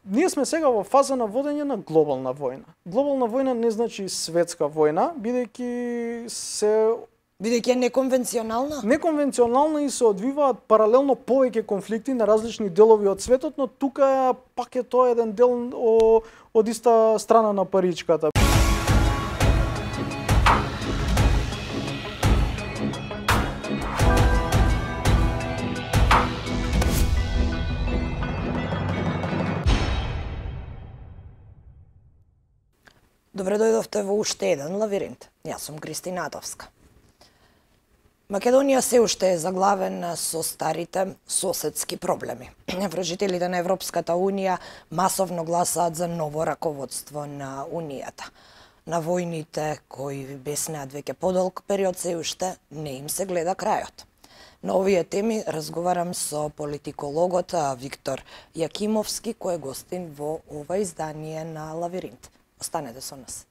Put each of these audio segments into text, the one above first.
ние сме сега во фаза на водење на глобална војна. Глобална војна не значи светска војна, Бидејќи е неконвенционална? Неконвенционална и се одвиваат паралелно повеќе конфликти на различни делови од светот, но тука пак е тоа еден дел од иста страна на паричката. Добре дојдовте во уште еден лавиринт. Јас сум Кристина Атовска. Македонија се уште е заглавена со старите соседски проблеми. Вражителите на Европската Унија масовно гласаат за ново раководство на Унијата. На војните кои беснеат веќе подолг период се уште не им се гледа крајот. На овие теми разговарам со политикологот Виктор Јакимовски, кој е гостин во ова издание на Лавиринт. Останете со нас.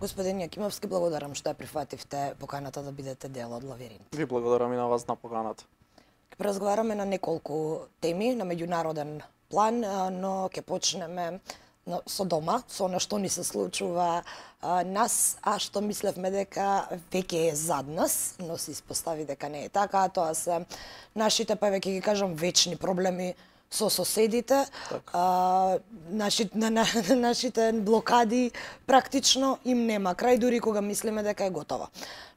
Господин Јакимовски, благодарам што ја прифативте поканата да бидете дел од Лавиринт. Ви благодарам и на вас на поканата. Ќе разговараме на неколку теми на меѓународен план, но ќе почнеме со дома, со она што ни се случува нас, а што мислевме дека веќе е зад нас, но се испостави дека не е така, тоа се нашите, па веќе ги кажам, вечни проблеми со соседите, нашите блокади практично им нема крај, дури кога мислиме дека е готова.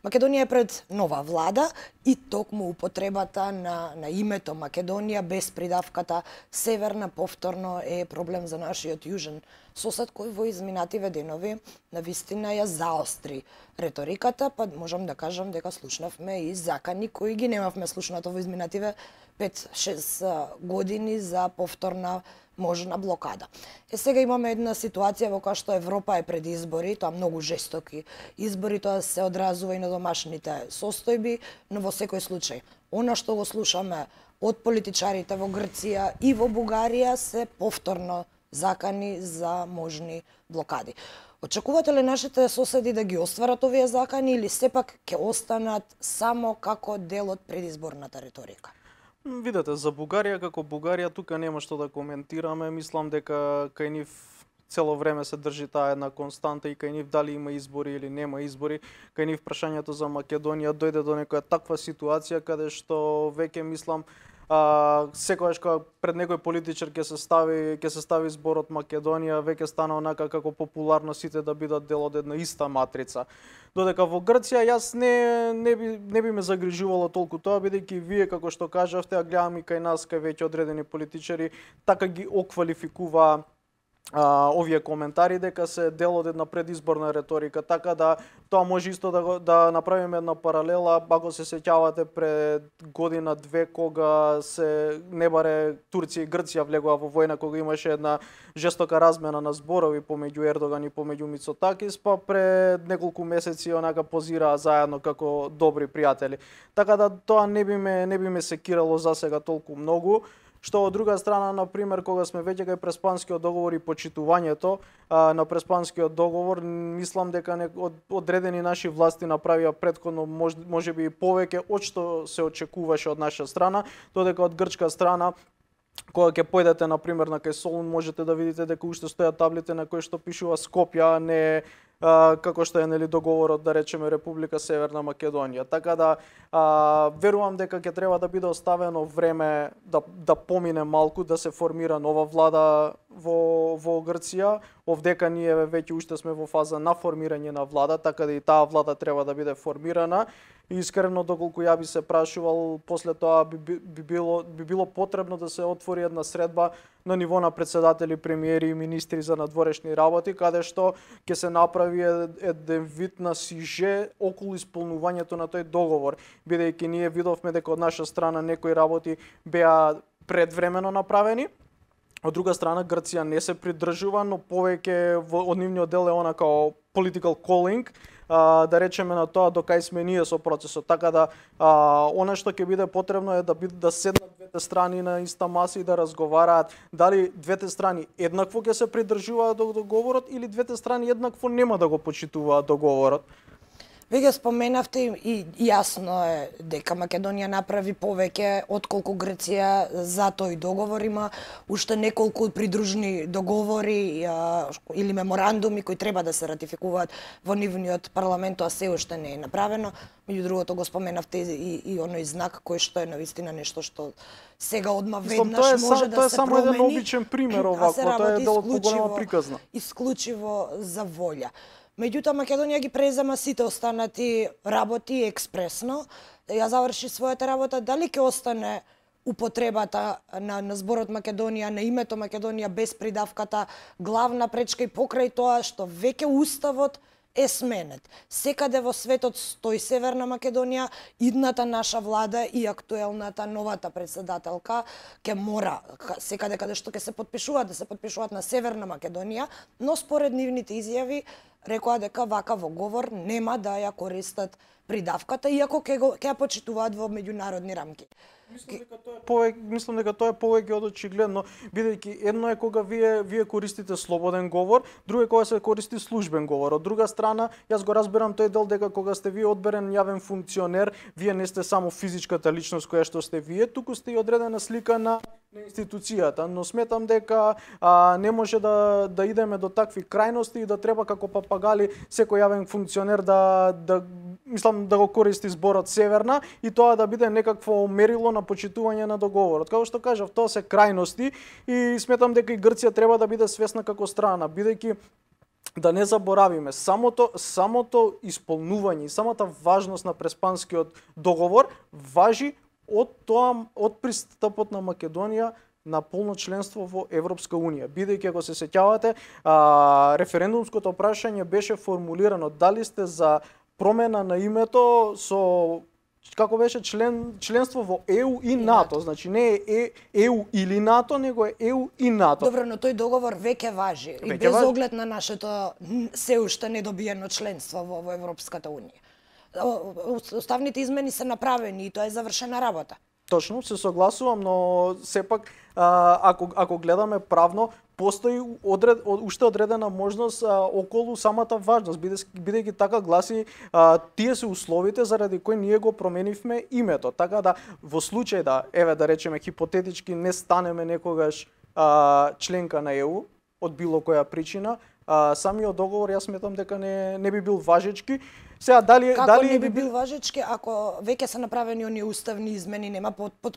Македонија е пред нова влада и токму употребата на името Македонија без придавката Северна повторно е проблем за нашиот јужен сосед кој во изминативе денови навистина ја заостри реториката, па можам да кажам дека слушнавме и закани кои ги немавме слушнато во изминативе 5-6 години за повторна можна блокада. Сега имаме една ситуација во која што Европа е пред избори, тоа многу жестоки избори, тоа се одразува и на домашните состојби, но во секој случај, она што го слушаме од политичарите во Грција и во Бугарија се повторно закани за можни блокади. Очекувате ли нашите соседи да ги остварат овие закани или сепак ќе останат само како дел од предизборната реторика? Видете, за Бугарија, како Бугарија, тука нема што да коментираме. Мислам дека кај нив цело време се држи таа една константа и кај нив дали има избори или нема избори. Кај нив прашањето за Македонија дојде до некоја таква ситуација каде што веќе мислам секогаш кога пред некој политичар ќе се стави зборот Македонија, веќе стана онака како популарно сите да бидат дел од една иста матрица. Додека во Грција јас не би ме загрижувало толку тоа, бидејќи вие како што кажавте, а гледам и кај нас, кај веќе одредени политичари, така ги оквалификува овие коментари дека се дел од една предизборна реторика, така да тоа може исто да направиме една паралела, ако се сеќавате пред година-две кога се не баре Турција и Грција влегоа во војна, кога имаше една жестока размена на зборови помеѓу Ердоган и помеѓу Мицотакис, па пред неколку месеци онака позираа заедно како добри пријатели. Така да тоа не би ме секирало за сега толку многу. Што од друга страна, на пример, кога сме веќе кај Преспанскиот договор и почитувањето на Преспанскиот договор, мислам дека одредени наши власти направија претходно можеби повеќе од што се очекуваше од наша страна, додека од грчка страна, кога ќе појдете на пример на кај Солун, можете да видите дека уште стојат таблите на кои што пишува Скопје, а не како што е договорот, да речеме, Република Северна Македонија. Така да верувам дека ќе треба да биде оставено време да помине малку, да се формира нова влада во Грција. Овдека ние веќе уште сме во фаза на формирање на влада, така да и таа влада треба да биде формирана. И искрено, доколку ја би се прашувал, после тоа би било потребно да се отвори една средба на ниво на председатели, премиери и министри за надворешни работи, каде што ќе се направи еден вид на сиже околу исполнувањето на тој договор, бидејќи ние видовме дека од наша страна некои работи беа предвремено направени. Од друга страна, Грција не се придржува, но повеќе од нивниот дел е она као political calling, да речеме на тоа до кај сме ние со процесот. Така да, она што ќе биде потребно е да седнат двете страни на иста маса и да разговараат дали двете страни еднакво ќе се придржуваат до договорот или двете страни еднакво нема да го почитуваат договорот. Веќе споменавте и јасно е дека Македонија направи повеќе отколку Грција за тој договор. Има уште неколку придружни договори или меморандуми кои треба да се ратификуваат во нивниот парламент, а се уште не е направено. Меѓу другото го споменавте и оној знак кој што е навистина нешто што сега одма веднаш може да се промени. Тоа е само еден обичен пример овакво, тоа е дел од поголема приказна. Исклучиво за волја. Меѓутоа Македонија ги презема сите останати работи експресно. Ја заврши својата работа, дали ќе остане употребата на зборот Македонија, на името Македонија без придавката главна пречка и покрај тоа што веќе уставот е сменет. Секаде во светот стои Северна Македонија, идната наша влада и актуелната новата председателка ќе мора секаде каде што ќе се подпишуваат, да се подпишуваат на Северна Македонија, но според нивните изјави рекоа дека вакав говор нема да ја користат придавката, иако ќе ја почитуваат во меѓународни рамки. Мислам дека тоа е повеќе од очигледно, бидејќи едно е кога вие користите слободен говор, друго е кога се користи службен говор. Од друга страна, јас го разберам тој дел дека кога сте вие одберен јавен функционер, вие не сте само физичката личност која што сте вие, туку сте и одредена слика на институцијата, но сметам дека не може да идеме до такви крајности и да треба како папагали секој јавен функционер мислам да го користи зборот Северна и тоа да биде некакво мерило на почитување на договорот. Како што кажав, тоа се крајности и сметам дека и Грција треба да биде свесна како страна, бидејќи да не заборавиме, самото исполнување и самата важност на Преспанскиот договор важи од пристапот на Македонија на полно членство во Европска Унија. Бидејќи, ако се сеќавате, референдумското прашање беше формулирано дали сте за промена на името со како беше членство во ЕУ и НАТО. Значи не е ЕУ или НАТО, него е ЕУ и НАТО. Добро, но тој договор веќе важи и без оглед на нашето се уште недобиено членство во Европската Унија. Уставните измени се направени и тоа е завршена работа. Точно, се согласувам, но сепак ако гледаме правно, постои уште одредена можност околу самата важност, бидејќи така гласи тие се условите заради кои ние го променивме името. Така да во случај да речеме хипотетички не станеме некогаш членка на ЕУ од било која причина, самиот договор јас сметам дека не би бил важечки. Сега дали не би бил важечки ако веќе се направени оние уставни измени, нема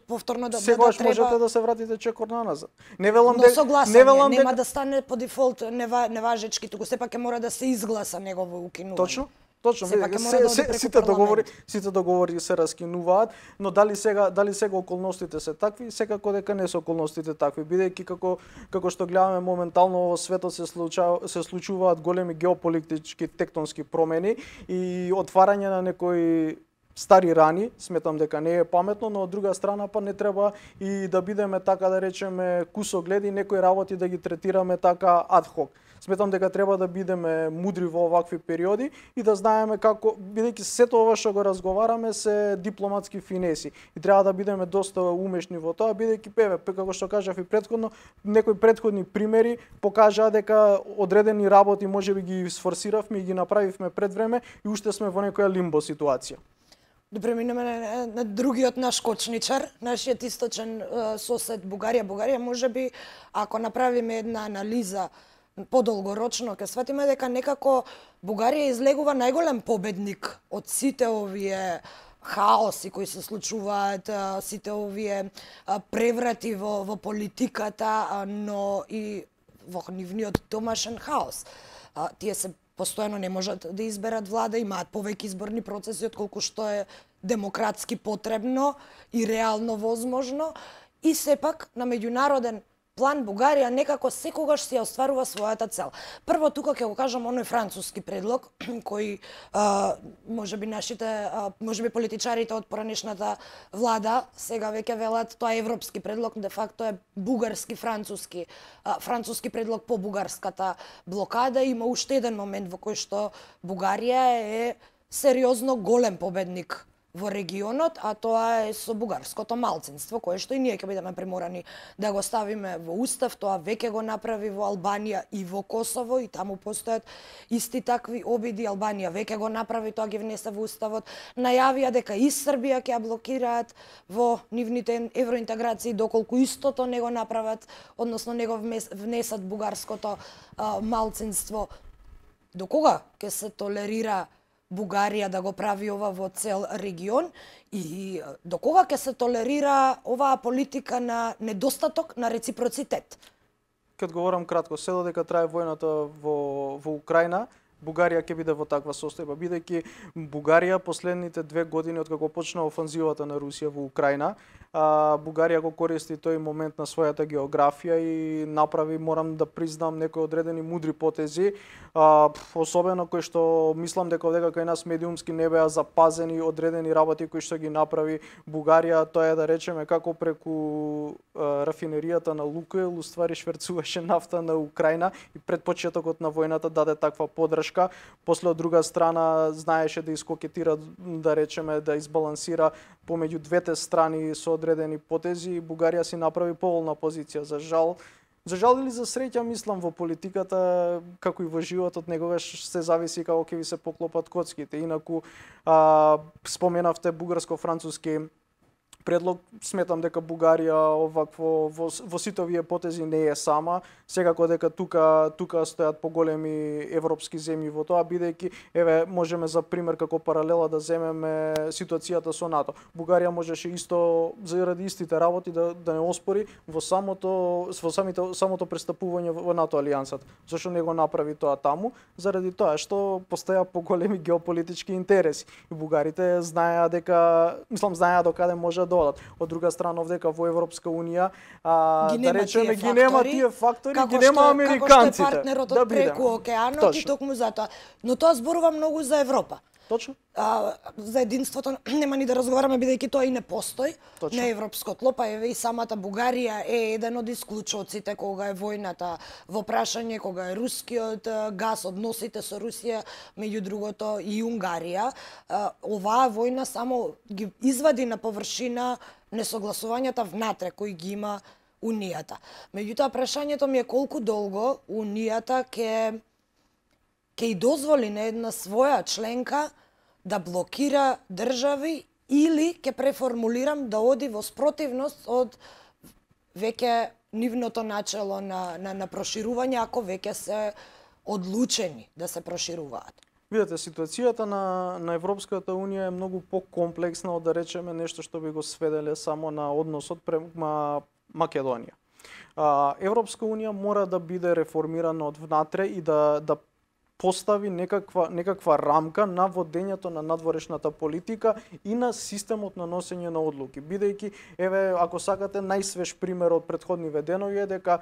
повторно да треба. Сегаш можете да се вратите чекор наназад. Нема да стане по дефолт неважечки, туку сепак ќе мора да се изгласа негово укинување. Точно, сите договори се раскинуваат, но дали сега околностите се такви, секако дека не се околностите такви, бидејќи како што гледаме моментално во светот се случуваат големи геополитички тектонски промени и отварање на некои стари рани, сметам дека не е паметно, но од друга страна па не треба и да бидеме така да речеме кусогледи, некои работи да ги третираме така адхок. Сметам дека треба да бидеме мудри во овакви периоди и да знаеме како, бидејќи сето ова што го разговараме се дипломатски финеси и треба да бидеме доста умешни во тоа, бидејќи како што кажав и претходно, некои претходни примери покажаа дека одредени работи можеби ги сфорсиравме и ги направивме пред време и уште сме во некоја лимбо ситуација. Да преминеме на другиот наш кочничар, нашиот источен сосед Бугарија. Бугарија можеби ако направиме една анализа подолгорочно, ќе сватиме дека некако Бугарија излегува најголем победник од сите овие хаоси кои се случуваат, сите овие преврати во политиката, но и во нивниот домашен хаос. Тие се постојано не можат да изберат влада, имаат повеќе изборни процеси отколку што е демократски потребно и реално возможно, и сепак на меѓународен план Бугарија некако секогаш си ја остварува својата цел. Прво тука ќе го кажам оној француски предлог кој можеби политичарите од поранешната влада сега веќе велат тоа е европски предлог, де факто е бугарски француски предлог по бугарската блокада. Има уште еден момент во кој што Бугарија е сериозно голем победник во регионот, а тоа е со бугарското малцинство, кое што и ние ќе бидеме приморани да го ставиме во устав. Тоа веќе го направи во Албанија и во Косово, и таму постојат исти такви обиди. Албанија веќе го направи, тоа ги внесе во уставот. Најавија дека и Србија ќе ја блокираат во нивните евроинтеграции, доколку истото не го направат, односно не го внесат бугарското малцинство. До кога ќе се толерира Бугарија да го прави ова во цел регион и до кога ќе се толерира оваа политика на недостаток на реципроцитет? Ќе одговорам кратко. Се додека трае војната во Украина, Бугарија ќе биде во таква состојба, бидејќи Бугарија последните 2 години од како почна офанзивата на Русија во Украина, Бугарија го користи тој момент на својата географија и направи, морам да признам, некои одредени мудри потези, особено кои што мислам дека кај нас медиумски не беа запазени одредени работи кои што ги направи Бугарија. Тоа е, да речеме, како преку рафинеријата на Лукойл уствари шверцуваше нафта на Украина и пред почетокот на војната даде таква поддршка. После, од друга страна, знаеше да искокетира, да речеме, да избалансира помеѓу двете страни со одредени потези. Бугарија си направи поволна позиција. За жал или за среќа, мислам, во политиката, како и во животот, некогаш се зависи како ќе ви се поклопат коцките. Инаку, споменавте бугарско-француски предлог, сметам дека Бугарија овакво во сите овие потези не е сама. Секако дека тука стојат поголеми европски земји во тоа, бидејќи еве можеме за пример како паралела да земеме ситуацијата со НАТО. Бугарија можеше исто заради истите работи да не оспори во самото пристапување во НАТО алијансата. Зошто не го направи тоа таму? Заради тоа што постоја поголеми геополитички интереси. И бугарите знаеа докаде може да одат. Од друга страна, овдека во Европска унија, да речеме, ги нема тие фактори, ги нема американците. Како што е партнерот од преку океанот и токму затоа. Но тоа зборува многу за Европа. Точно. За единството нема ни да разговараме, бидејќи тоа и не постои. Точно. На европско тло, па еве и самата Бугарија е еден од исклучоците кога е војната во прашање, кога е рускиот газ, односите со Русија, меѓу другото и Унгарија. Оваа војна само ги извади на површина несогласувањата внатре кои ги има Унијата. Меѓутоа, прашањето ми е колку долго Унијата ќе и дозволи на една своја членка да блокира држави или ќе преформулирам да оди во спротивност од веќе нивното начело на проширување, ако веќе се одлучени да се прошируваат. Видете, ситуацијата на Европската унија е многу покомплексна од, да речеме, нешто што би го сведеле само на односот према Македонија. Европска унија мора да биде реформирана од внатре и да постави некаква рамка на водењето на надворешната политика и на системот на носење на одлуки. Бидејќи, еве, ако сакате, најсвеж пример од претходни веденови е дека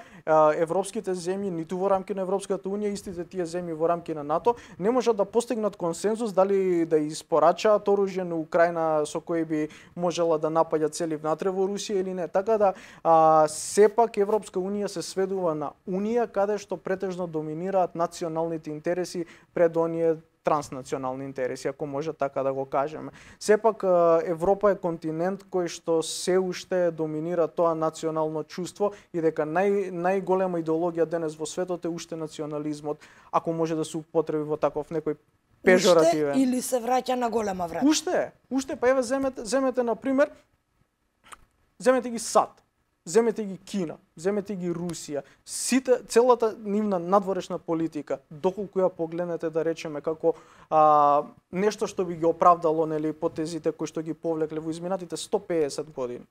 европските земји, ниту во рамки на Европската унија, истите тие земји во рамки на НАТО, не можат да постигнат консензус дали да испорачаат оружје на Украина со кои би можела да напаѓа цели внатре во Русија или не. Така да, сепак Европска унија се сведува на унија каде што претежно доминираат националните интереси пред оние транснационални интереси, ако може така да го кажеме. Сепак Европа е континент кој што се уште доминира тоа национално чувство и дека најголема идеологија денес во светот е уште национализмот, ако може да се употреби во таков некој пежоративен. Уште или се враќа на голема врата? Уште, па еве земете на пример, земете ги САД. Земете ги Кина, земете ги Русија, целата нивна надворешна политика, доколку ја погледнете, да речеме, како нешто што би ги оправдало, нели, потезите кои што ги повлекле во изминатите 150 години.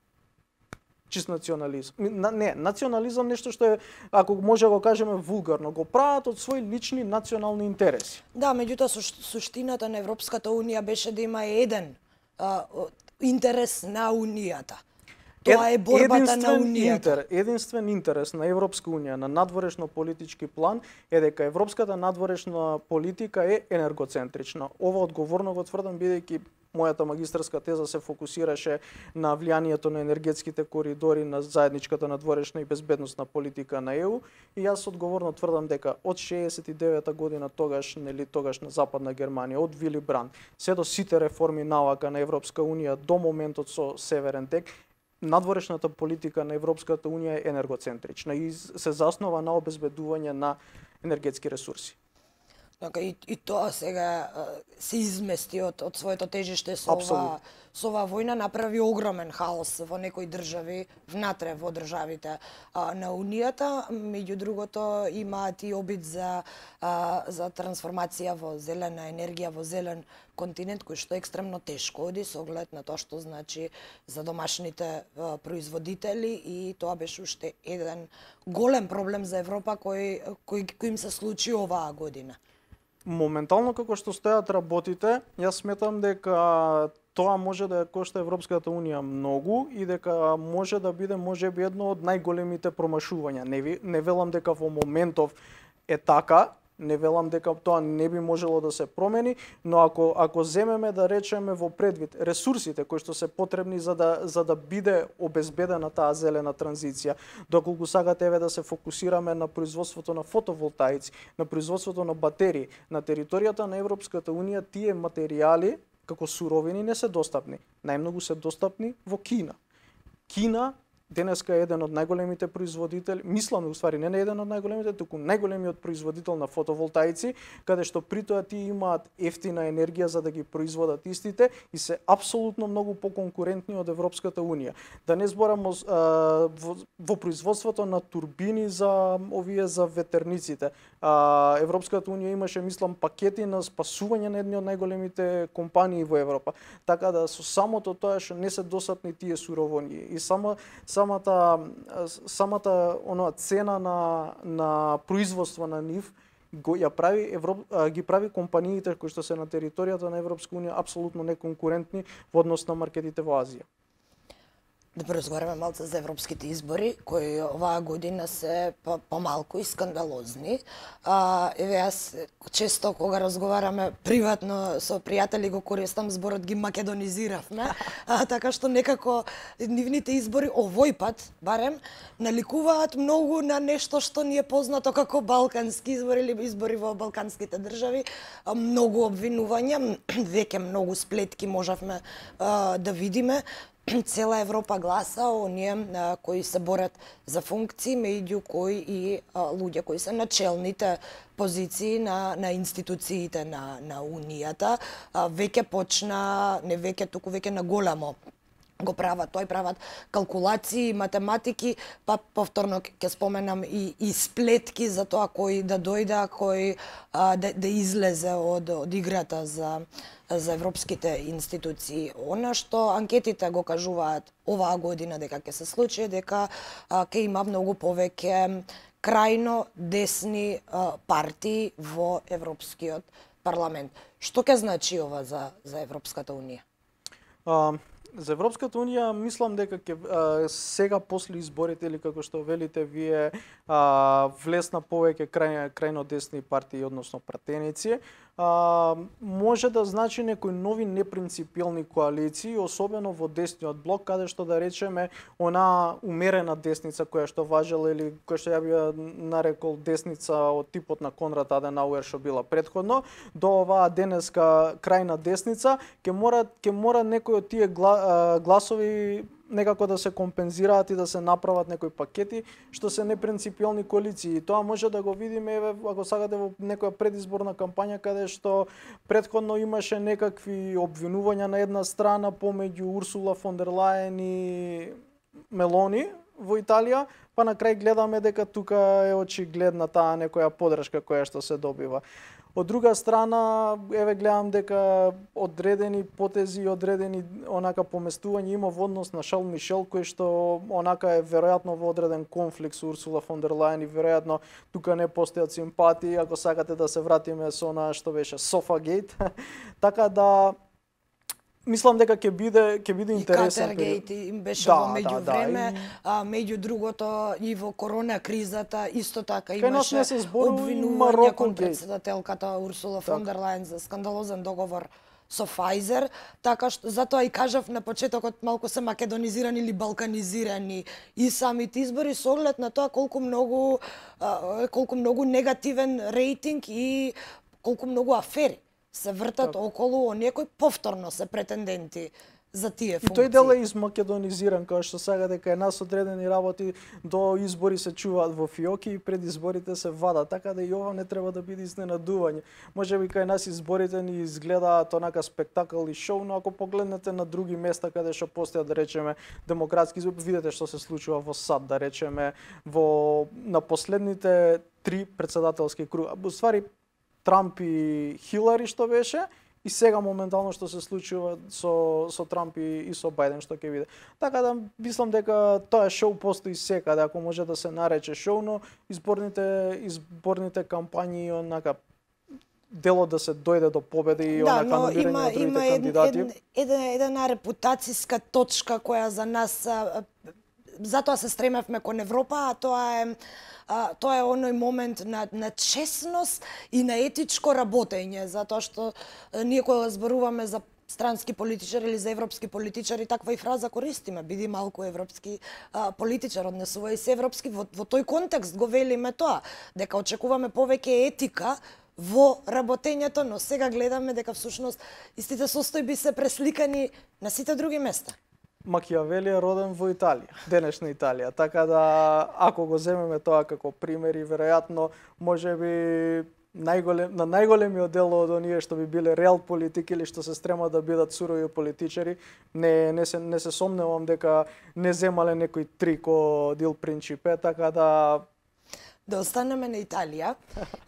Чист национализм. Не, национализам нешто што е, ако може да го кажеме вулгарно, го прават од своји лични национални интереси. Да, меѓутоа суштината на Европската унија беше да има еден интерес на унијата. Тоа е борбата на унијата. Единствен интерес на Европска унија на надворешно политички план е дека европската надворешна политика е енергоцентрична. Ова одговорно го тврдам, бидејќи мојата магистарска теза се фокусираше на влијанието на енергетските коридори на заедничката надворешна и безбедносна политика на ЕУ, и јас одговорно тврдам дека од 69-та година тогаш на Западна Германија, од Вили Бранд, се до сите реформи наока на Европска унија до моментот со Северен тек, надворешната политика на Европската унија е енергоцентрична и се заснова на обезбедување на енергетски ресурси. Така, и тоа сега се измести од своето тежиште со оваа војна, направи огромен хаос во некои држави, внатре во државите на Унијата. Меѓу другото, имаат и обид за трансформација во зелена енергија, во зелен континент, кој што е екстремно тешко оди со оглед на тоа што значи за домашните производители, и тоа беше уште еден голем проблем за Европа кој им се случи оваа година. Моментално како што стојат работите, јас сметам дека тоа може да ја кошта Европската унија многу и дека може да биде можеби едно од најголемите промашувања. Не велам дека во моментов е така, не велам дека тоа не би можело да се промени, но ако земеме да речеме во предвид ресурсите кои што се потребни за да биде обезбедена таа зелена транзиција, доколку сакате да се фокусираме на производството на фотоволтаици, на производството на батерии, на територијата на Европската унија тие материјали како суровини не се достапни. Најмногу се достапни во Кина. Кина денеска е еден од најголемите производители, мислам уствари не еден од најголемите, туку најголемиот производител на фотоволтаици, каде што при тоа тие имаат ефтина енергија за да ги производат истите и се апсолутно многу поконкурентни од Европската унија. Да не зборам во производството на турбини за ветерниците. Европската унија имаше, мислам, пакети на спасување на едни од најголемите компании во Европа. Така да со самото тоа што не се достапни тие суровини и самата цена на производство на нив ги прави компаниите кои што се на територијата на Европска унија апсолутно неконкурентни во однос на маркетите во Азија. Да поразговараме малце за европските избори, кои оваа година се помалку и скандалозни. Еве, јас често кога разговараме приватно со пријатели го користам зборот ги македонизиравме, така што некако нивните избори овој пат, барем, наликуваат многу на нешто што ни е познато како балкански избори или избори во балканските држави. Многу обвинувања, веќе многу сплетки можевме да видиме. Цела Европа гласа оние кои се борат за функции, меѓу кои и луѓе кои се на челните позиции на институциите на Унијата. Веќе почна, не веќе, туку веќе на големо го прават, прават калкулации, математики, па повторно ќе споменам и сплетки за тоа кој да дојде, кој да излезе од играта за европските институции. Она што анкетите го кажуваат оваа година дека ќе се случи, дека ќе има многу повеќе крајно десни партии во Европскиот парламент. Што ќе значи ова за Европската унија? За Европската унија мислам дека сега после изборите, или како што велите вие, влесна повеќе крајно десни партии, односно пратеници, може да значи некои нови непринципиелни коалиции, особено во десниот блок, каде што да речеме она умерена десница која што важела или која што ја би нарекол десница од типот на Конрад Аденауер што била претходно, до оваа денеска крајна десница, ќе мора некои од тие гласови некако да се компензираат и да се направат некои пакети што се непринципиелни коалиции. Тоа може да го видиме, еве, ако сакате, во некоја предизборна кампања каде што претходно имаше некакви обвинувања на една страна помеѓу Урсула фон дер Лајен и Мелони во Италија, па на крај гледаме дека тука е очигледна таа некоја подршка која што се добива. Од друга страна, еве гледам дека одредени потези, одредени онака поместување има во однос на Шарл Мишел, кој што онака е веројатно во одреден конфликт со Урсула фон дер Лајен и веројатно тука не постојат симпатии, ако сакате да се вратиме со она што беше Софагейт. Така да мислам дека ќе биде интересен. И Катергейт им беше во меѓувреме, меѓу другото и во корона кризата исто така имаше обвинувања кон претседателката Урсула фон дер Лајен за скандалозен договор со Pfizer, така што затоа и кажав на почетокот малку се македонизирани или балканизирани и самите избори со оглед на тоа колку многу негативен рейтинг и колку многу афери се вртат околу оние кои повторно се претенденти за тие функции. И тој дел е измакедонизиран, као што сега дека е нас одредени работи до избори се чуваат во фиоки и пред изборите се вадат, така да и ова не треба да биде изненадување. Можеби кај нас изборите ни изгледаат онака спектакл и шоу, но ако погледнете на други места каде што постојат, да речеме, демократски избори, видите што се случува во САД, да речеме, на последните 3 претседателски круга. Во ствари Трамп и Хилари што беше, и сега моментално што се случува со Трамп и со Бајден што ќе биде. Така да мислам дека тоа шоу постои секаде, ако може да се нарече шоу, но изборните кампањи онака дело да се дојде до победа и онака номирање на другите кандидати. Една репутацијска точка која за нас затоа се стремевме кон Европа, а тоа е оној момент на честност и на етичко работење, затоа што ние кога зборуваме за странски политичари или за европски политичари, таква и фраза користиме, биди малку европски политичар, однесувај се европски, во тој контекст го велиме тоа, дека очекуваме повеќе етика во работењето, но сега гледаме дека всушност истите состојби се пресликани на сите други места. Макијавели е роден во Италија, денешна Италија, така да ако го земеме тоа како пример и веројатно можеби на најголемиот дел од оние што би биле реал политики или што се стрема да бидат сурови политичари, не се сомневам дека не земале некој трик од Ил Принчипе, така да останеме на Италија.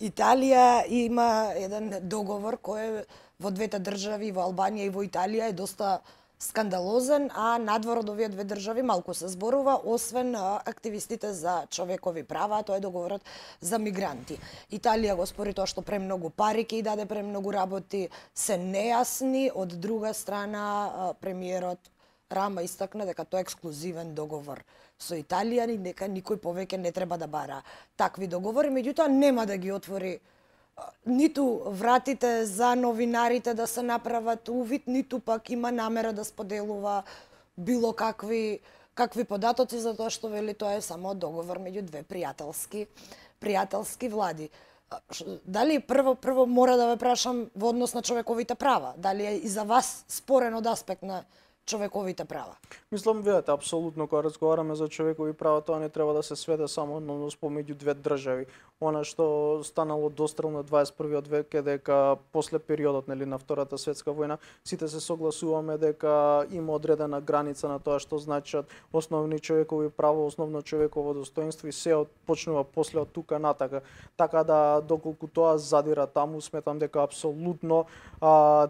Италија има еден договор кој во двете држави, во Албанија и во Италија е доста скандалозен, а надвор од овие две држави малку се зборува, освен активистите за човекови права, тоа е договорот за мигранти. Италија го спори тоа што премногу пари ќе и даде, премногу работи се нејасни, од друга страна премиерот Рама истакна дека тоа е ексклузивен договор со Италија и дека никој повеќе не треба да бара такви договори, меѓутоа нема да ги отвори ниту вратите за новинарите да се направат увид, ниту пак има намера да споделува било какви податоци, затоа што вели тоа е само договор меѓу две пријателски влади. Дали прво мора да ве прашам во однос на човековите права, дали е и за вас спорен од аспект на човековите права? Мислам, видете, апсолутно, кога разговараме за човекови права, тоа не треба да се сведе само на однос помеѓу две држави. Она што станало дострел на 21-виот век е дека после периодот на Втората светска војна сите се согласуваме дека има одредена граница на тоа што значат основни човекови права, основно човеково достоинство и се почнува после од тука натака. Така да доколку тоа задира таму, сметам дека апсолутно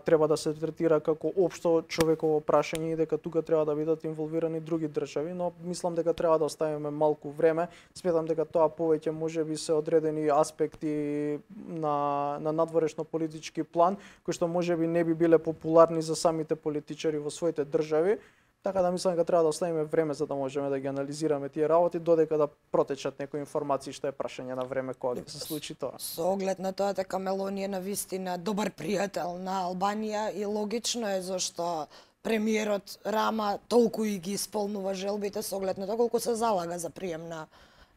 треба да се третира како општо човеково прашање и дека тука треба да бидат инволвирани други држави, но мислам дека треба да оставиме малку време. Сметам дека тоа повеќе можеби се одредени аспекти на надворешно политички план, кои што можеби не би биле популарни за самите политичари во своите држави. Така да мислам дека треба да оставиме време за да можеме да ги анализираме тие работи додека да протечат некои информации, што е прашање на време кога ќе се случи тоа. Со оглед на тоа дека Мелони е навистина добар пријател на Албанија и логично е зашто премиерот Рама толку и ги исполнува желбите со оглед на тоа колку се залага за прием на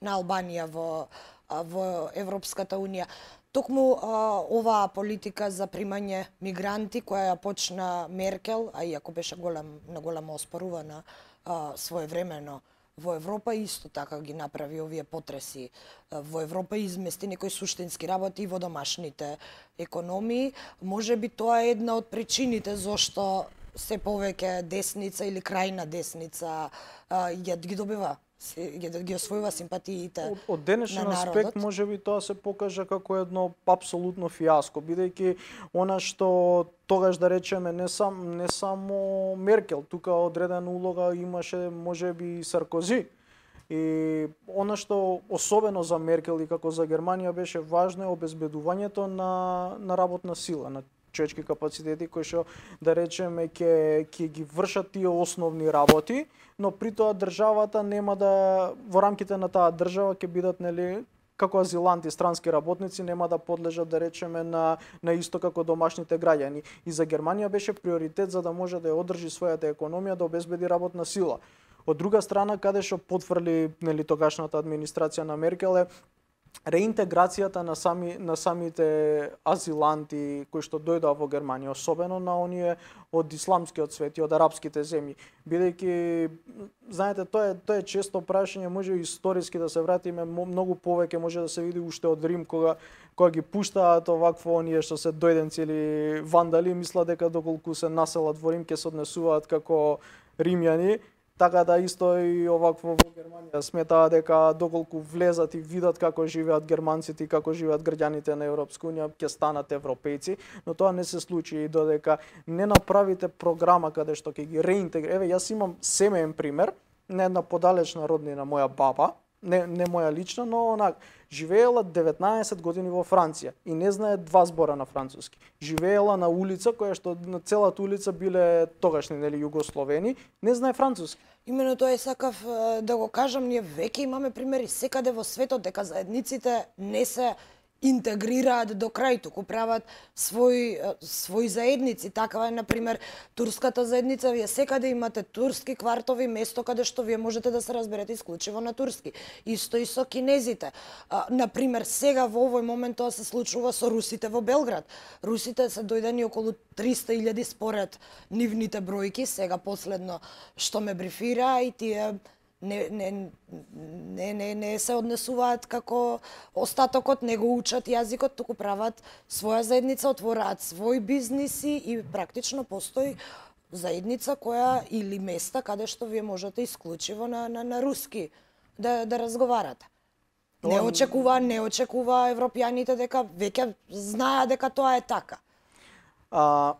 Албанија во Европската унија. Токму оваа политика за примање мигранти која ја почна Меркел, а иако беше големо оспорувана своевремено во Европа, исто така ги направи овие потреси во Европа и измести некои суштински работи во домашните економии. Можеби тоа е една од причините зошто се повеќе десница или крајна десница ги добива, ги освојува симпатиите од денешен аспект можеби тоа се покажа како едно апсолутно фиаско, бидејќи она што тогаш да речеме не само Меркел, тука одредена улога имаше можеби и Саркози. И она што особено за Меркел и како за Германија беше важно е обезбедувањето на работна сила, на човечки капацитети кои што да речеме ќе ги вршат тие основни работи, но при тоа државата нема да во рамките на таа држава ќе бидат како азиланти, странски работници нема да подлежат, да речеме, на исто како домашните граѓани. И за Германија беше приоритет за да може да ја одржи својата економија, да обезбеди работна сила. Од друга страна, каде што потврли тогашната администрација на Меркел е реинтеграцијата на самите азиланти кои што дојдоа во Германија, особено на оние од исламскиот свет и од арапските земји. Бидејќи, знаете, тоа е често прашање, може историски да се вратиме многу повеќе, може да се види уште од Рим кога ги пуштаат овакво оние што се дојденци или вандали, мислат дека доколку се населат во Рим ќе се однесуваат како римјани. Така да исто и овакво во Германија сметаа дека доколку влезат и видат како живеат германците и како живеат граѓаните на Европска унија, ќе станат европејци, но тоа не се случи и додека не направите програма каде што ќе ги реинтегрира. Еве, јас имам семеен пример на една подалечна роднина, моја баба, не моја лична, но живеела 19 години во Франција и не знае 2 збора на француски. Живеела на улица која што на целата улица биле тогашни југословени, не знае француски. Имено тоа сакав да го кажам, ние веќе имаме примери секаде во светот дека заедниците не се интегрираат до крај, туку прават свои заедници. Такава е, например, турската заедница. Вие секаде имате турски квартови, место каде што вие можете да се разберете исклучиво на турски. Исто и со кинезите. Например, сега во овој момент тоа се случува со русите во Белград. Русите се дојдени околу 300.000 според нивните бројки, сега последно што ме брифира, и тие не се однесуваат како остатокот, не го учат јазикот, туку прават своја заедница, отвораат свои бизниси и практично постои заедница која или места каде што вие можете исклучиво на руски да разговарате. Не очекува европјаните дека веќе знаат дека тоа е така.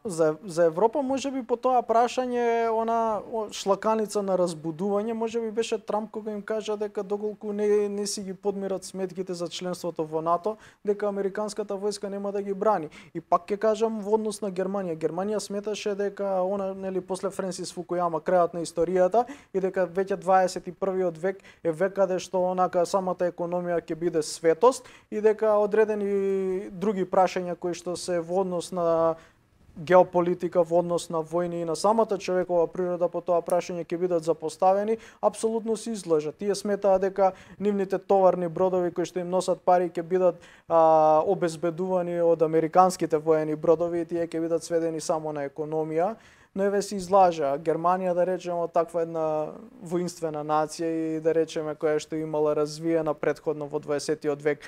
За Европа можеби по тоа прашање, она шлаканица на разбудување, можеби беше Трамп кога им кажа дека доколку не си ги подмират сметките за членството во НАТО, дека американската војска нема да ги брани. И пак ќе кажам во однос на Германија. Германија сметаше дека она после Френсис Фукујама, крајот на историјата, и дека веќе 21-виот век е век каде што онака самата економија ќе биде светост и дека одредени други прашања кои што се во однос на геополитика, во однос на војни и на самата човекова природа по тоа прашање ќе бидат запоставени, апсолутно се излажат. Тие сметаат дека нивните товарни бродови кои што им носат пари ќе бидат обезбедувани од американските воени бродови и тие ќе бидат сведени само на економија. Но еве се излажа. Германија, да речеме, таква една воинствена нација и да речеме која што имала развиена претходно во 20-тиот век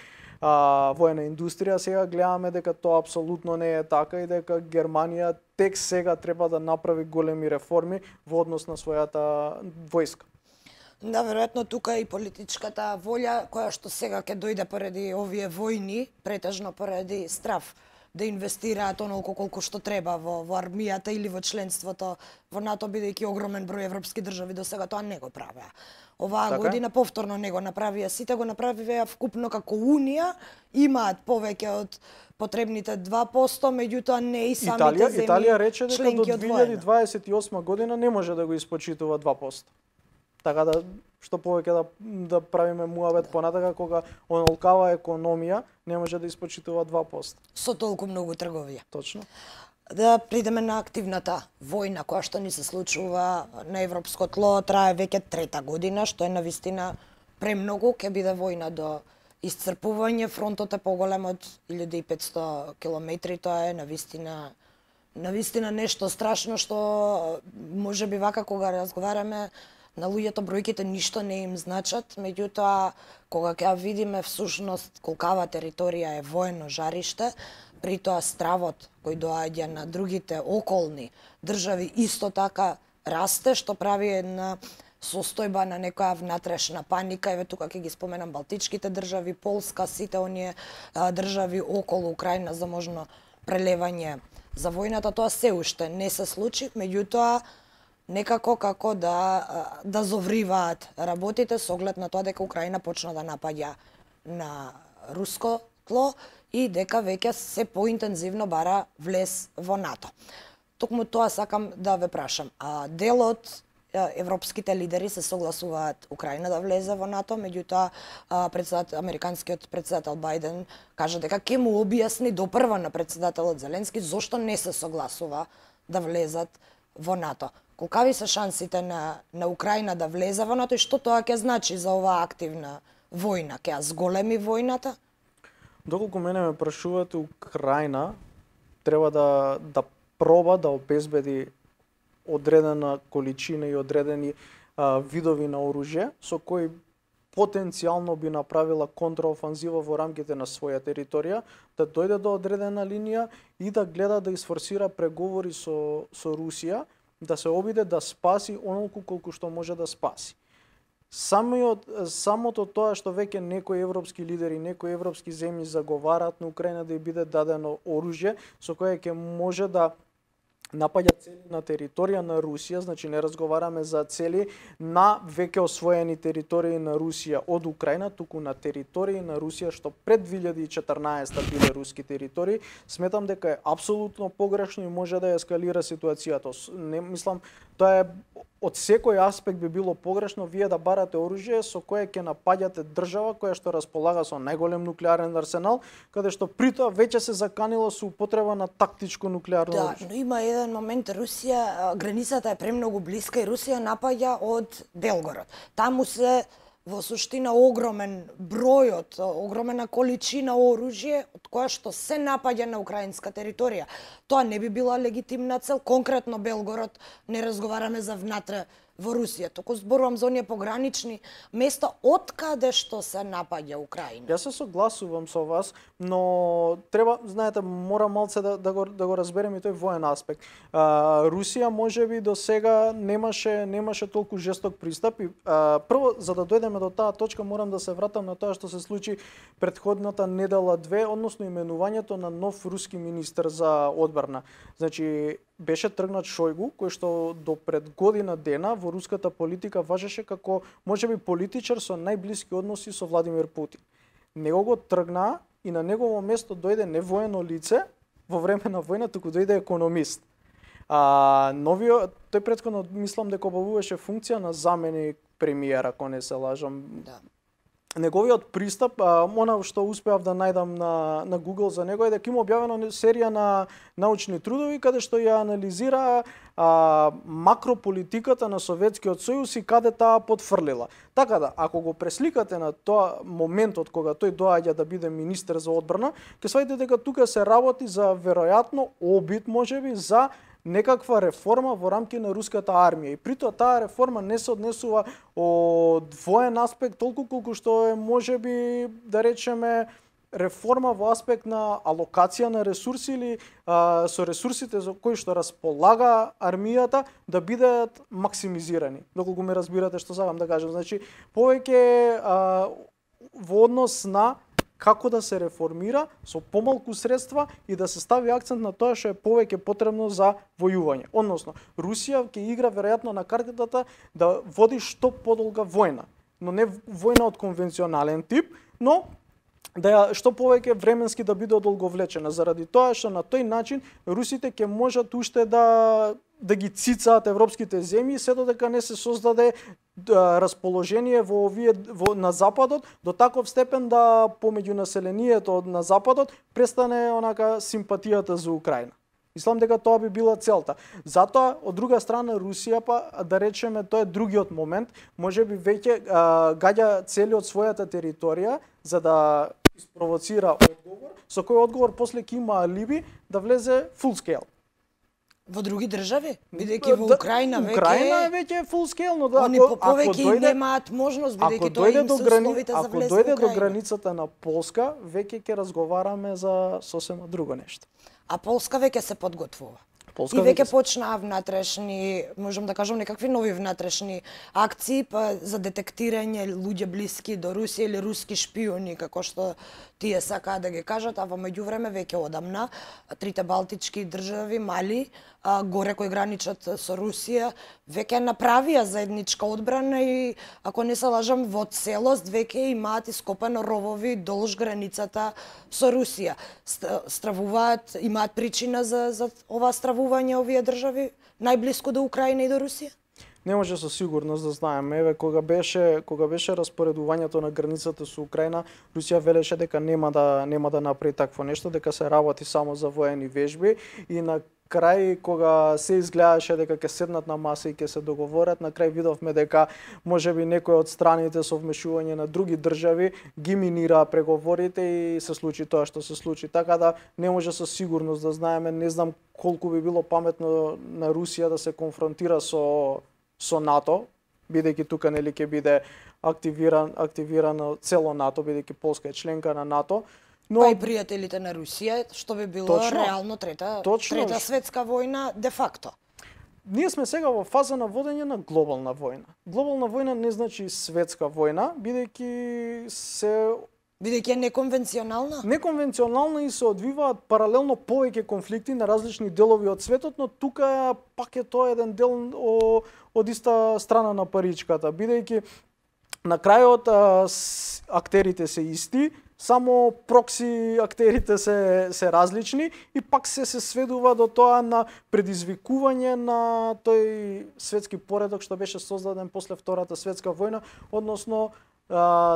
воена индустрија, сега гледаме дека тоа апсолутно не е така и дека Германија тек сега треба да направи големи реформи во однос на својата војска. Да, веројатно тука и политичката волја која што сега ќе дојде поради овие војни, претежно поради страв да инвестираат онолку колку што треба во армијата или во членството во НАТО, бидејќи огромен број европски држави до сега тоа не го правеа. Оваа година повторно не го направија, сите го направија вкупно како Унија, имаат повеќе од потребните 2%, меѓутоа не и самите земји. Италија рече дека до 2028 година не може да го испочитува 2%. Така да што повеќе да правиме муабет понатака кога онолкава економија не може да испочитува 2%. Со толку многу трговија. Точно. Да придеме на активната војна која што ни се случува на европско тло, трае веќе 3-та година, што е навистина премногу, ќе биде војна до исцрпување, фронтот е поголем од 1500 километри, тоа е навистина нешто страшно што можеби вака кога разговараме на луѓето бројките ништо не им значат, меѓутоа кога ќе видиме всушност колкава територија е воено жариште, при тоа стравот кој доаѓа на другите околни држави исто така расте, што прави една состојба на некоја внатрешна паника. Еве тука ќе ги споменам Балтичките држави, Полска, сите оние држави околу Украина за можно прелевање за војната. Тоа се уште не се случи, меѓутоа некако како да зовриваат работите со оглед на тоа дека Украина почна да напаѓа на руско тло и дека веќе се поинтензивно бара влез во НАТО. Токму тоа сакам да ве прашам. Делот европските лидери се согласуваат Украина да влезе во НАТО, меѓутоа американскиот председател Бајден кажа дека ќе му објасни допрва на председателот Зеленски зошто не се согласува да влезат во НАТО. Колкави се шансите на Украина да влезе во НАТО и што тоа ќе значи за оваа активна војна? Ќе ја зголеми војната? Доколку мене ме прашувате, Украина треба да проба да обезбеди одредена количина и одредени видови на оружје со кои потенцијално би направила контраофанзива во рамките на своја територија, да дојде до одредена линија и да гледа да isforsира преговори со Русија, да се обиде да спаси онолку колку што може да спаси. Самото тоа што веќе некои европски лидери, некои европски земји заговараат на Украина да ја биде дадено оружје со кое ќе може да напаѓа цели на територија на Русија, значи не разговараме за цели на веќе освоени територии на Русија од Украина, туку на територии на Русија што пред 2014 биле руски територии. Сметам дека е апсолутно погрешно и може да ескалира ситуацијата. Не мислам, тоа е од секој аспект би било погрешно вие да барате оружје со кое ќе напаѓате држава која што располага со најголем нуклеарен арсенал, каде што при тоа веќе се заканило со употреба на тактичко нуклеарно оружје. Да, но има еден момент, Русија, границата е премногу блиска и Русија напаѓа од Белгород. Таму се во суштина огромен бројот, огромена количина оружје од која што се напаѓа на украинска територија. Тоа не би била легитимна цел, конкретно Белгород, не разговараме за внатре во Русија, туку зборувам за оние погранични места од каде што се напаѓа Украина. Јас се согласувам со вас, но треба, знаете, мора малце да го разберем и тој воен аспект. Русија можеби до сега немаше толку жесток пристап и прво за да дојдеме до таа точка морам да се вратам на тоа што се случи претходната недела 2, односно именувањето на нов руски министер за одбрана. Значи беше тргнат Шојгу, кој што до пред година дена во руската политика важеше како можеби политичар со најблиски односи со Владимир Путин. Него го тргна и на негово место дојде не воено лице во време на војна, туку дојде економист. Тој претходно мислам дека обавуваше функција на заменик премиер, ако не се лажам. Да. Неговиот пристап, она што успеав да најдам на Google за него е дека има објавена серија на научни трудови каде што ја анализира макрополитиката на Советскиот сојуз и каде таа потфрлила. Така да, ако го пресликате на тоа моментот кога тој доаѓа да биде министер за одбрана, ќе сваѓате дека тука се работи за веројатно обид можеби за некаква реформа во рамки на руската армија. И притоа таа реформа не се однесува од воен аспект толку колку што е можеби да речеме реформа во аспект на алокација на ресурси или со ресурсите за кои што располага армијата да бидат максимизирани. Доколку ме разбирате што сакам да кажам, значи повеќе во однос на како да се реформира со помалку средства и да се стави акцент на тоа што е повеќе потребно за војување. Односно, Русија ќе игра веројатно на картата да води што подолга војна, но не војна од конвенционален тип, но да што повеќе временски да биде одолговлечена, заради тоа што на тој начин русите ќе можат уште да ги цицаат европските земји, се додека не се создаде расположение на западот до таков степен да помеѓу населението на западот престане онака симпатијата за Украина. Мислам дека тоа би била целта. Затоа, од друга страна, Русија, да речеме, тоа е другиот момент, можеби веќе гаѓа цели од својата територија за да испровоцира одговор, со кој одговор после ќе има алиби да влезе full scale. Во други држави, бидејќи во Украина веќе Украина е веќе full scale, но да, они повеќе немаат можност бидејќи тоа им се условите за влез во Украина. Ако дојде до границата на Полска, веќе ќе разговараме за сосема друго нешто. А Полска веќе се подготвува. Полска и веќе почнаа внатрешни, можам да кажам, некакви нови внатрешни акции за детектирање луѓе блиски до Русија или руски шпиони, како што тие сакаат да ги кажат, а во меѓувреме веќе одамна трите балтички држави мали, горе кои граничат со Русија, веќе направија заедничка одбрана и, ако не се лажам, во целост веќе имаат ископано ровови долж границата со Русија. Стравуваат, имаат причина за ова стравување овие држави најблиску до Украина и до Русија? Не може со сигурност да знаеме. Еве кога беше распоредувањето на границата со Украина, Русија велеше дека нема да направи такво нешто, дека се работи само за воени вежби и на крај кога се изгледаше дека ќе седнат на маса и ќе се договорат, на крај видовме дека можеби некој од страните со вмешување на други држави ги минира преговорите и се случи тоа што се случи. Така да не може со сигурност да знаеме, не знам колку би било паметно на Русија да се конфронтира со НАТО, бидејќи тука нели ќе биде активирано цело НАТО, бидејќи Полска е членка на НАТО. Но па и пријателите на Русија, што би било реално трета светска војна де факто. Ние сме сега во фаза на водење на глобална војна. Глобална војна не значи светска војна, бидејќи е неконвенционална. Неконвенционална и се одвиваат паралелно повеќе конфликти на различни делови од светот, но тука пак е тоа еден дел од иста страна на паричката, бидејќи на крајот актерите се исти, само прокси актерите се различни и пак се сведува до тоа на предизвикување на тој светски поредок што беше создаден после Втората светска војна, односно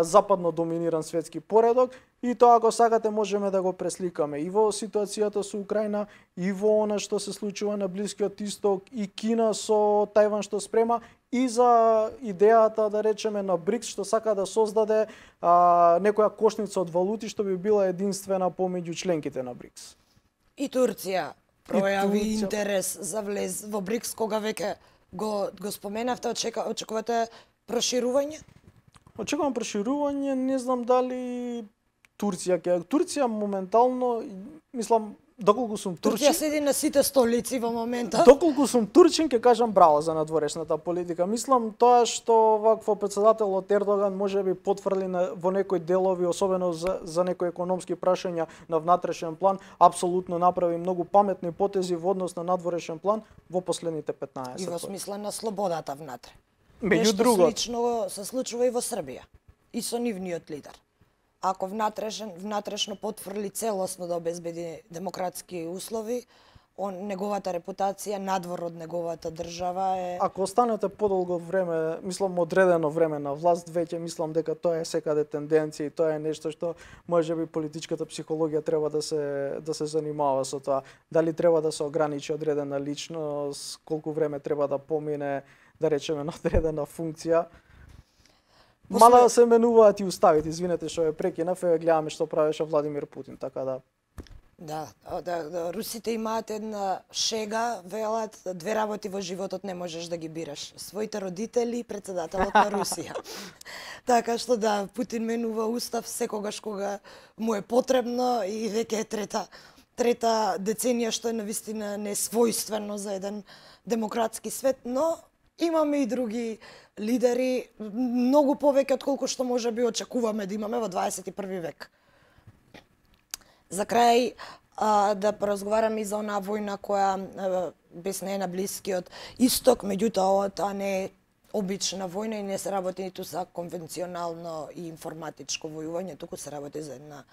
западно доминиран светски поредок, и тоа ако сакате можеме да го пресликаме и во ситуацијата со Украина, и во она што се случува на Блискиот Исток, и Кина со Тајван што спрема, и за идејата, да речеме, на БРИКС, што сака да создаде некоја кошница од валути што би била единствена помеѓу членките на БРИКС. И Турција пројави интерес за влез во БРИКС, кога веќе го споменавте, очекувате проширување? Очекувам проширување, не знам дали Турција моментално, мислам, доколку сум турчин... Турција седи на сите столици во моментот. Доколку сум турчин, ќе кажам браво за надворешната политика. Мислам, тоа што вакво председателот Ердоган можеби потврли во некои делови, особено за некои економски прашања на внатрешен план, апсолутно направи многу паметни потези во однос на надворешен план во последните 15 И во смисла на слободата внатре. Меѓу друго, слично се случува и во Србија, и со нивниот лидер. Ако внатрешно потврли целосно да обезбеди демократски услови, неговата репутација надвор од неговата држава е... Ако останете подолго време, мислам одредено време на власт, веќе мислам дека тоа е секаде тенденција и тоа е нешто што можеби политичката психологија треба да се занимава со тоа. Дали треба да се ограничи одредена личност, колку време треба да помине, да речеме, на одредена функција. Мала да се менуваат и уставите, извинете што ја прекинав, гледаме што правеше Владимир Путин, така да... Да, русите имаат една шега, велат, две работи во животот не можеш да ги бираш. Своите родители и председателот на Русија. Така што да, Путин менува устав секогаш кога му е потребно и веќе е трета деценија, што е навистина несвојствено за еден демократски свет, но имаме и други лидери, многу повеќе од колку што може би очекуваме да имаме во 21 век. За крај, да поразговараме и за онаа војна која бесне на Блискиот Исток, меѓутоа тоа не е обична војна и не се работи ниту за конвенционално и информатичко војување, туку се работи за една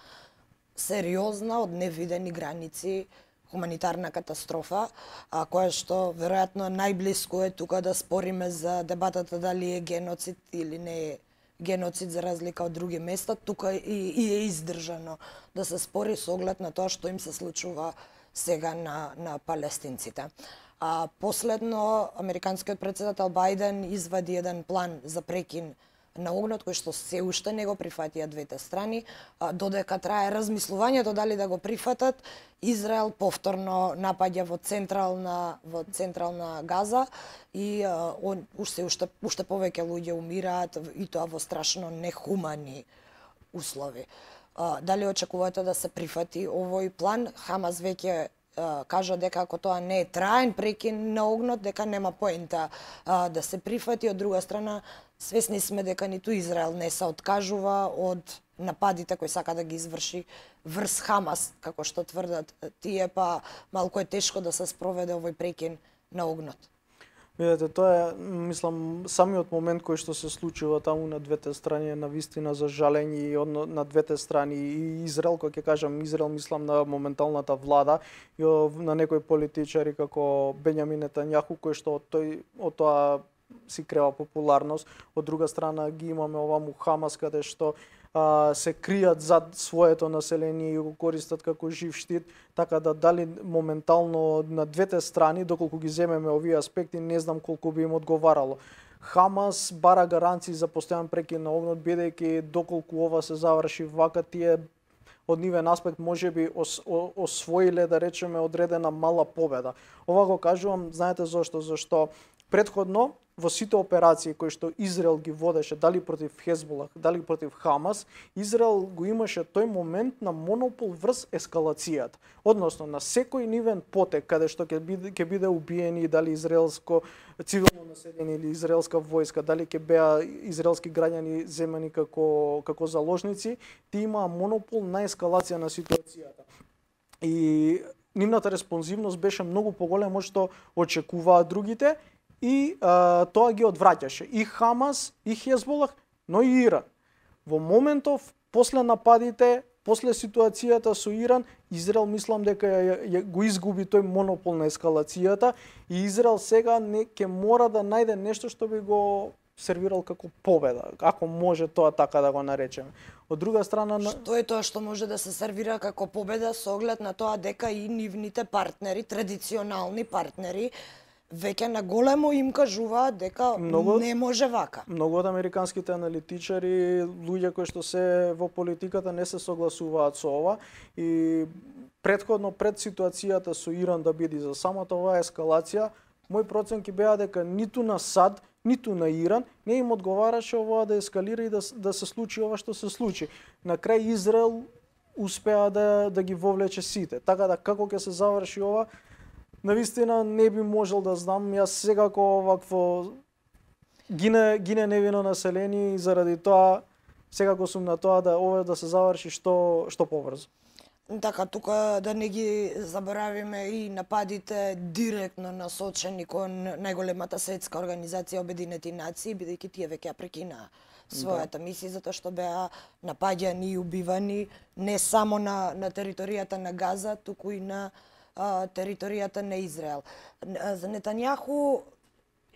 сериозна, од невидени граници, хуманитарна катастрофа, која што веројатно најблиску е тука да спориме за дебатата дали е геноцид или не е геноцид за разлика од други места, тука и е издржано да се спори со оглед на тоа што им се случува сега на палестинците. Последно, американскиот председател Бајден извади еден план за прекин на огнот, кој што се уште не го прифатија двете страни, додека трае размислувањето дали да го прифатат. Израел повторно напаѓа во централна Газа и уште повеќе луѓе умираат, и тоа во страшно нехумани услови. Дали очекувате да се прифати овој план? Хамас веќе кажа дека ако тоа не е траен прекин на огнот, дека нема поента да се прифати. Од друга страна, свесни сме дека ниту Израел не се откажува од нападите кои сака да ги изврши врз Хамас, како што тврдат тие, па малку е тешко да се спроведе овој прекин на огнот. Видете, тоа е, мислам, самиот момент кој што се случува таму на двете страни е навистина за жалење и на двете страни. И Израел, кога ќе кажам Израел, мислам на моменталната влада и на некои политичари како Бењамин Нетањаху, кој што од тоа си крева популарност, од друга страна ги имаме оваму Хамас каде што се кријат зад своето население и го користат како жив штит, така да дали моментално на двете страни, доколку ги земеме овие аспекти, не знам колку би им одговарало. Хамас бара гаранции за постојан прекин на огнот, бидејќи доколку ова се заврши вака, тие од нивен аспект можеби освоиле, да речеме, одредена мала победа. Ова го кажувам, знаете зошто? Зашто претходно во сите операции кои што Израел ги водеше, дали против Хезболах, дали против Хамас, Израел го имаше тој момент на монопол врз ескалацијата. Односно, на секој нивен потек, каде што ќе биде убиени, дали израелско цивилно население или израелска војска, дали ќе беа израелски граѓани земени како заложници, ти имаа монопол на ескалација на ситуацијата. И нивната респонзивност беше многу поголема од што очекуваа другите, и тоа ги одвраќаше и Хамас, и Хезболах, но и Иран. Во моментов, после нападите, после ситуацијата со Иран, Израел мислам дека го изгуби тој монопол на ескалацијата и Израел сега ќе мора да најде нешто што би го сервирал како победа, ако може тоа така да го наречеме. Од друга страна, што е тоа што може да се сервира како победа со оглед на тоа дека и нивните партнери, традиционални партнери, веќе на големо им кажуваат дека не може вака. Многу од американските аналитичари, луѓе кои што се во политиката, не се согласуваат со ова и претходно пред ситуацијата со Иран да биде за самата оваа ескалација, мој проценки беа дека ниту на САД, ниту на Иран не им одговараше ова да ескалира и да се случи ова што се случи. На крај Израел успеа да ги вовлече сите. Така да како ќе се заврши ова, навистина не би можел да знам. Јас секако овакво гине невино население и заради тоа секако сум на тоа да ова да се заврши што побрзо. Така, тука да не ги заборавиме и нападите директно насочени кон најголемата светска организација Обединети нации, бидејќи тие веќе ја прекинаа својата мисија, затоа што беа напаѓани и убивани не само на територијата на Газа, туку и на територијата на Израел. За Нетањаху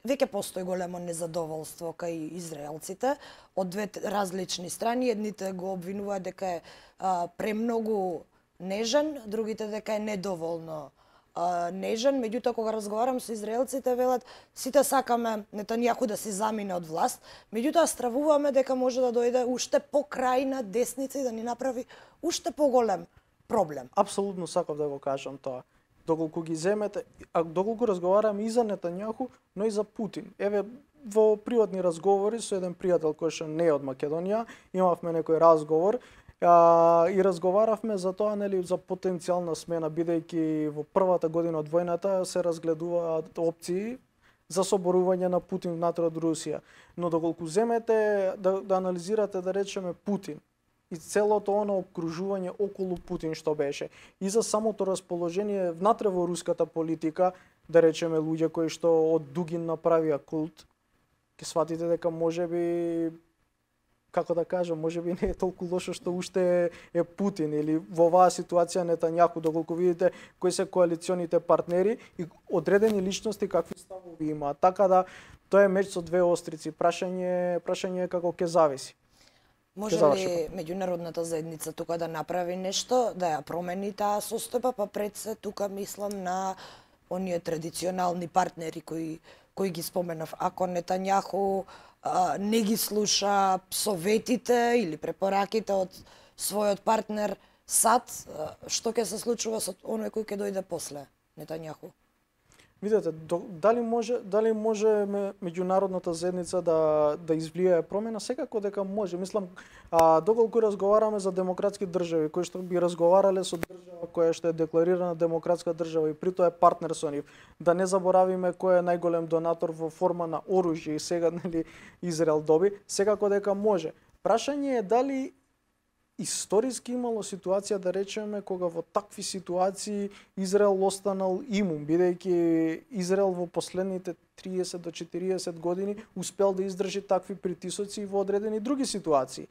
веќе постои големо незадоволство кај израелците од две различни страни. Едните го обвинуваат дека е премногу нежен, другите дека е недоволно нежен. Меѓутоа, кога разговарам со израелците, велат сите сакаме Нетањаху да се замине од власт, меѓутоа стравуваме дека може да дојде уште покрајна десница и да ни направи уште поголем проблем. Апсолутно сакав да го кажам тоа. Доколку ги земете, доколку разговараме и за Нетањаху, но и за Путин. Еве, во приватни разговори со еден пријател кој што не е од Македонија, имавме некој разговор и разговаравме за тоа, нели, за потенцијална смена, бидејќи во првата година од војната се разгледуваат опции за соборување на Путин внатре од Русија. Но доколку земете да анализирате, да речеме, Путин и целото оно обкружување околу Путин што беше, и за самото расположение внатре во руската политика, да речеме, луѓе кои што од Дугин направија култ, ќе сватите дека можеби, како да кажам, можеби не е толку лошо што уште е Путин, или во оваа ситуација Нетањаху, доколку видите кои се коалиционите партнери и одредени личности какви ставови имаат. Така да тоа е меч со две острици. Прашање е како ќе зависи. Може ли меѓународната заедница тука да направи нешто, да ја промени таа состојба, па пред се тука мислам на оние традиционални партнери кои ги споменав. Ако Нетањаху не ги слуша советите или препораките од својот партнер САД, што ќе се случува со оној кој ќе дојде после Нетањаху? Видете, дали може меѓународната заедница да извлие промена? Секако дека може. Мислам, доколку разговараме за демократски држави, кои што би разговарале со држава која што е декларирана демократска држава и при тоа е партнер со нив, да не заборавиме кој е најголем донатор во форма на оружје и сега, нели, Израел доби, секако дека може. Прашање е дали историски имало ситуација, да речеме, кога во такви ситуации Израел останал имун, бидејќи Израел во последните 30 до 40 години успел да издржи такви притисоци во одредени други ситуации.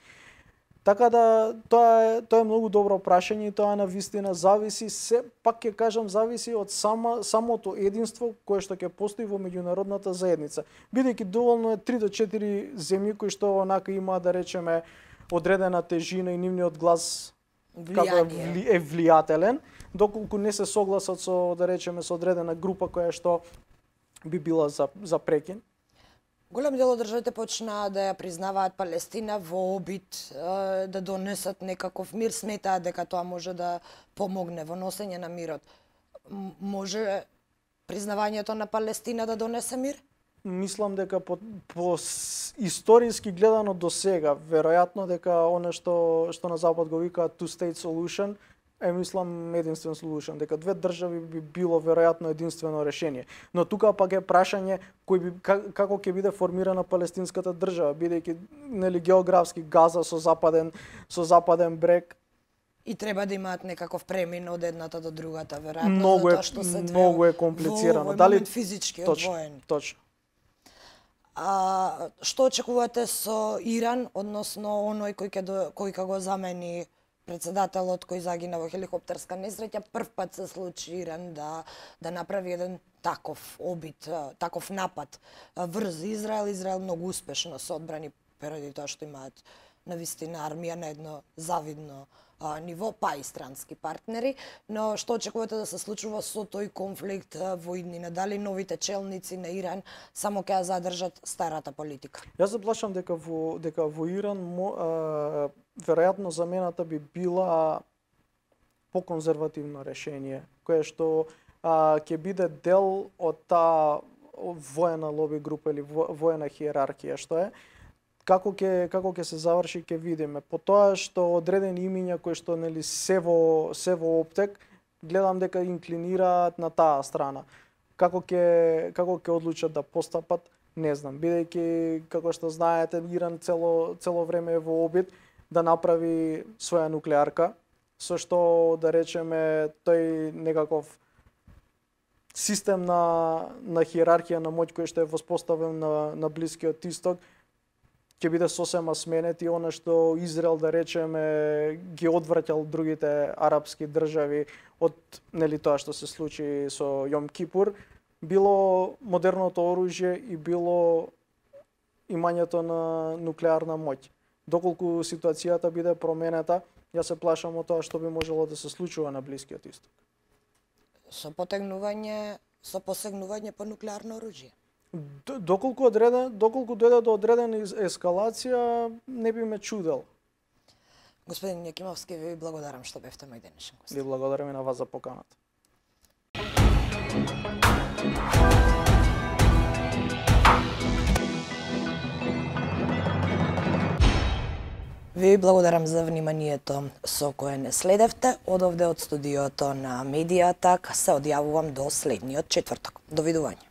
Така да тоа е многу добро прашање и тоа на вистина зависи, се пак ќе кажам зависи од самото единство кое што ќе постои во меѓународната заедница. Бидејќи доволно е 3 до 4 земји кои што онака имаат да речеме одредена тежина и нивниот глас како е влијателен, доколку не се согласат со да речеме со одредена група која што би била за прекин. Голем дел од државите почнаа да ја признаваат Палестина во обид да донесат некаков мир, сметаат дека тоа може да помогне во носење на мирот. Може признавањето на Палестина да донесе мир? Мислам дека по историски гледано до сега, веројатно дека оно што на запад го викаат two-state solution, мислам единствен solution, дека две држави би било веројатно единствено решение. Но тука пак е прашање како ќе биде формирана палестинската држава, бидејќи нели географски Газа со западен брег и треба да имаат некаков премин од едната до другата, веројатно, многу е комплицирано. Дали физички одвоени? Точно. Што очекувате со Иран, односно оној кој ќе го замени председателот кој загина во хеликоптерска несреќа? Прв пат се случи Иран да направи еден таков обид, таков напад врз Израел. Израел многу успешно се одбрани поради тоа што имаат навистина армија на едно завидно ниво, па и странски партнери, но што очекувате да се случува со тој конфликт во иднина? Дали новите челници на Иран само ќе ја задржат старата политика? Јас се плашам дека во Иран веројатно замената би била поконзервативно решение, кое што ќе биде дел од таа воена лоби група или воена хиерархија што е. Како ќе се заврши ќе видиме. По тоа што одредени имиња кои што нели се во оптек, гледам дека инклинираат на таа страна. Како ќе одлучат да постапат, не знам. Бидејќи како што знаете, Иран цело време е во обид да направи своја нуклеарка, со што да речеме тој некаков систем на хиерархија на моќ кој што е воспоставен на Блискиот Исток ќе биде сосема сменет и она што Израел да речеме ги одвраќал другите арапски држави од нели тоа што се случи со Јом Кипур, било модерното оружје и било имањето на нуклеарна моќ. Доколку ситуацијата биде променета, јас се плашам од тоа што би можело да се случува на Блискиот Исток. Со посегнување по нуклеарно оружје. Доколку дојде до одредена ескалација, не би ме чудел. Господин Јакимовски, ви благодарам што бевте мој денешен гост. Ви благодарам и на вас за поканата. Ви благодарам за вниманието со кое не следевте. Од овде од студиото на Медијатак се одјавувам до следниот четврток. Довидување.